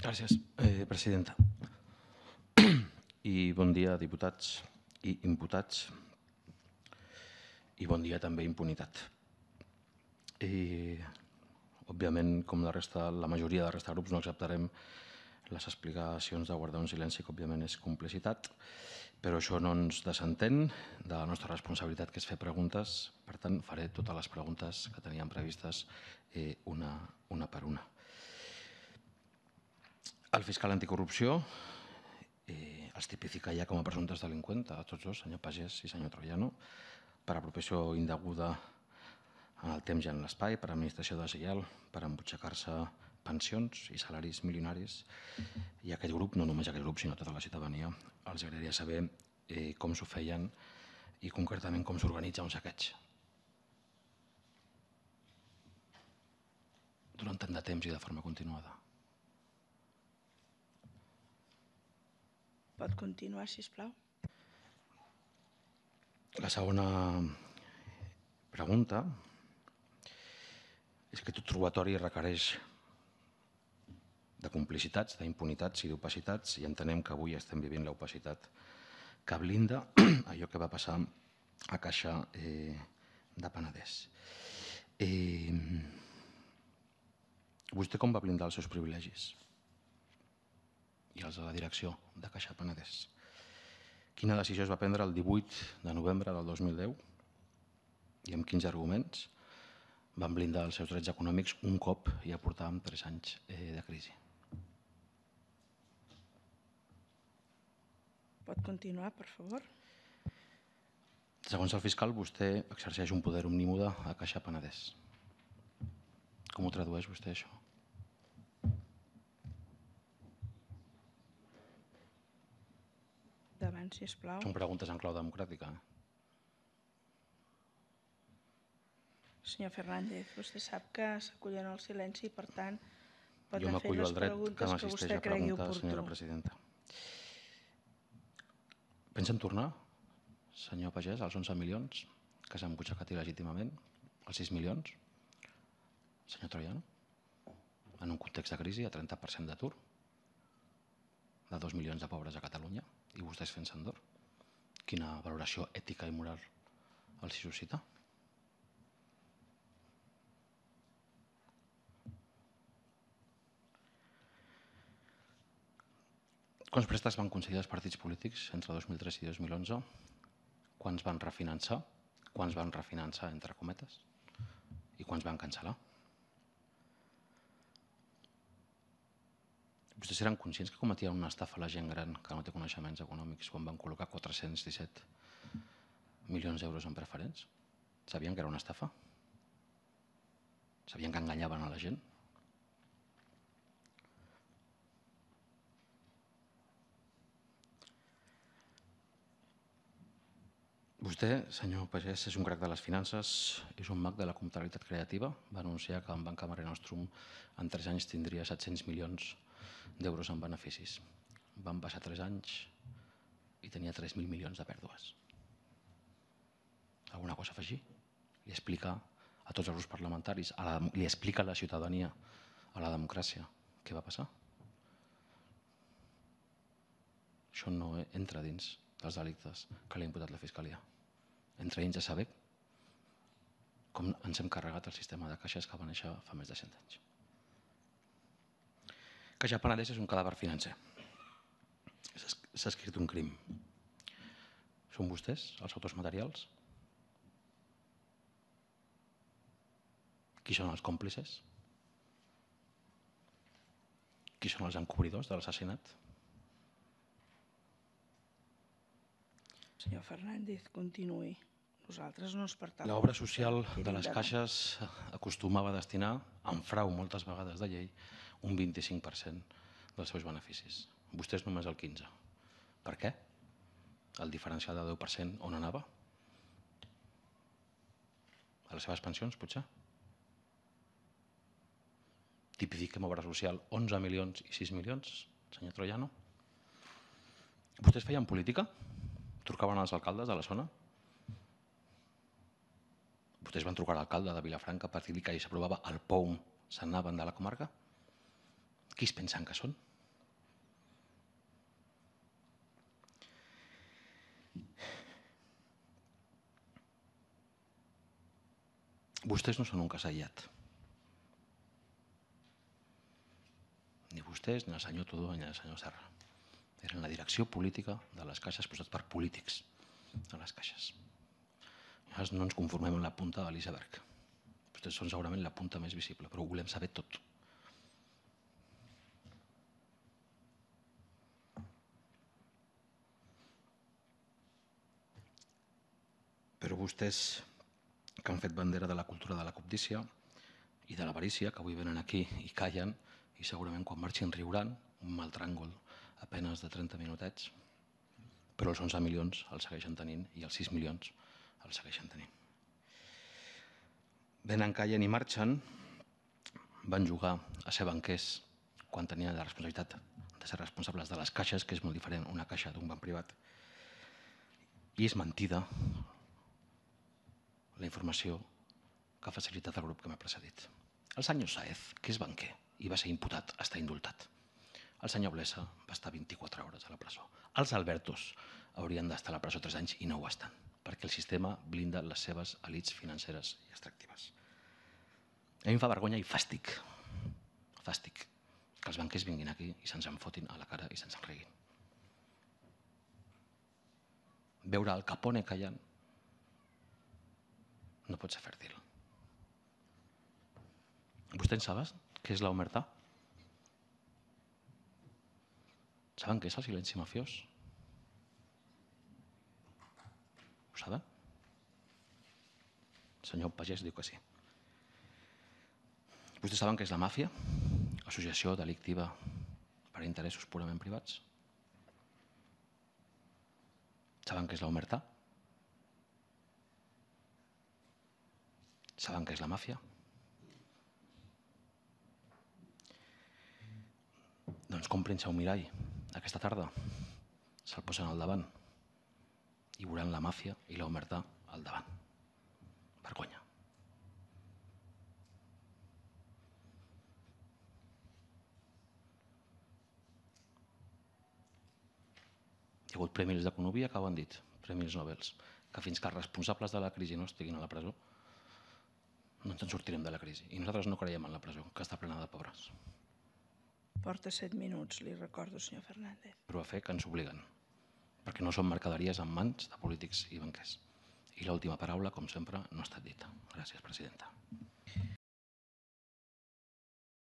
Gràcies, presidenta. I bon dia, diputats i imputats. I bon dia també, impunitat. Òbviament, com la majoria de la resta de grups, no acceptarem les explicacions de guardar un silenci, que òbviament és complicitat, però això no ens desentén de la nostra responsabilitat, que és fer preguntes. Per tant, faré totes les preguntes que teníem previstes una per una. El fiscal anticorrupció els tipifica ja com a presumptes delinqüents a tots dos, senyor Pagès i senyor Troiano, per apropiació indeguda en el temps i en l'espai, per administració deslleial, per embutxacar-se pensions i salaris milionaris. I aquest grup, no només aquest grup, sinó tota la ciutadania, els agradaria saber com s'ho feien i concretament com s'organitza un saqueig. Durant tant de temps i de forma continuada. Pot continuar, sisplau. La segona pregunta és que tot robatori requereix de complicitats, d'impunitats i d'opacitats, i entenem que avui estem vivint l'opacitat que blinda allò que va passar a Caixa de Penedès. Vostè com va blindar els seus privilegis i els de la direcció de Caixa Penedès? Quina decisió es va prendre el 18 de novembre del 2010 i amb quins arguments van blindar els seus drets econòmics un cop ja portàvem 3 anys de crisi? Pot continuar, per favor. Segons el fiscal, vostè exerceix un poder omnímode a Caixa Penedès. Com ho tradueix vostè, això? Davant, sisplau. Són preguntes en clau democràtica. Senyor Fernández, vostè sap que s'acullen al silenci i, per tant, pot Jo anar fent m'acullo les al dret que preguntes que m'assisteix vostè a cregui preguntar, oportú. senyora presidenta. Pensen tornar, senyor Pagès, als 11 milions que s'han embutxacat il·legítimament, als 6 milions, senyor Troiano, en un context de crisi, a 30% d'atur, de 2 milions de pobres a Catalunya, i vostès fent Sandor? Quina valoració ètica i moral els suscita? Quants préstecs van concedir els partits polítics entre 2003 i 2011? Quants van refinançar? Quants van refinançar, entre cometes? I quants van cancel·lar? Vostès eren conscients que cometien una estafa a la gent gran que no té coneixements econòmics quan van col·locar 417 milions d'euros en preferents? Sabien que era una estafa? Sabien que enganyaven a la gent? Vostè, senyor Pagès, és un crac de les finances, és un mag de la comptabilitat creativa. Va anunciar que en Banca Mare Nostrum en 3 anys tindria 700 milions d'euros en beneficis. Van passar 3 anys i tenia 3.000 milions de pèrdues. Alguna cosa a afegir? Li explica a tots els grups parlamentaris, li explica a la ciutadania, a la democràcia, què va passar? Això no entra dins dels delictes que li ha imputat la Fiscalia. Entra dins de saber com ens hem carregat el sistema de caixes que va néixer fa més de 100 anys. Caixa Penedès és un cadàver financer. S'ha escrit un crim. Són vostès els autors materials? Qui són els còmplices? Qui són els encobridors de l'assassinat? Senyor Fernández, continuï. Nosaltres no ens pertanyem. L'obra social de les caixes acostumava a destinar, en frau moltes vegades de llei, un 25% dels seus beneficis. Vostès només el 15%. Per què? El diferencial del 10% on anava? A les seves pensions, potser? Tipifiquem obra social 11 milions i 6 milions, senyor Troiano? Vostès feien política? Trucaven als alcaldes de la zona? Vostès van trucar a l'alcalde de Vilafranca per dir-li que s'aprovava el POUM, se'n anaven de la comarca? Qui es pensen que són? Vostès no són un cas aïllat. Ni vostès, ni el senyor Tudó, ni el senyor Serra. Eren la direcció política de les caixes posats per polítics a les caixes. Llavors no ens conformem amb la punta de l'iceberg. Vostès són segurament la punta més visible, però ho volem saber tot. Però vostès, que han fet bandera de la cultura de la cobdícia i de l'avarícia, que avui venen aquí i callen, i segurament quan marxin riuran, un mal tràngol a penes de 30 minutets, però els 11 milions els segueixen tenint i els 6 milions els segueixen tenint. Venen, callen i marxen, van jugar a ser banquers quan tenien la responsabilitat de ser responsables de les caixes, que és molt diferent una caixa d'un banc privat, i és mentida la informació que ha facilitat el grup que m'ha precedit. El senyor Sáez, que és banquer i va ser imputat, està indultat. El senyor Blesa va estar 24 hores a la presó. Els Albertos haurien d'estar a la presó 3 anys i no ho estan, perquè el sistema blinda les seves elits financeres i extractives. A mi em fa vergonya i fàstic, que els banquers vinguin aquí i se'ns en fotin a la cara i se'ns en riguin. Veure el Capone callant no pot ser fèrtil. ¿Vostè en saben què és l'omertà? ¿Saben què és el silenci mafiós? Ho saben? El senyor Pagès diu que sí. ¿Vostès saben què és la màfia? Associació delictiva per a interessos purament privats? Saben què és l'omertà? Saben què és la màfia? Doncs comprin-se un mirall aquesta tarda, se'l posen al davant i veuran la màfia i l'omertà al davant. Vergonya. Hi ha hagut premis d'economia que ho han dit, premis Nobel, que fins que els responsables de la crisi no estiguin a la presó no ens en sortirem de la crisi. I nosaltres no creiem en la presó, que està plena de pobres. Porta 7 minuts, li recordo, senyor Fernández. Però a fer que ens obliguen, perquè no són mercaderies en mans de polítics i banquers. I l'última paraula, com sempre, no ha estat dita. Gràcies, presidenta.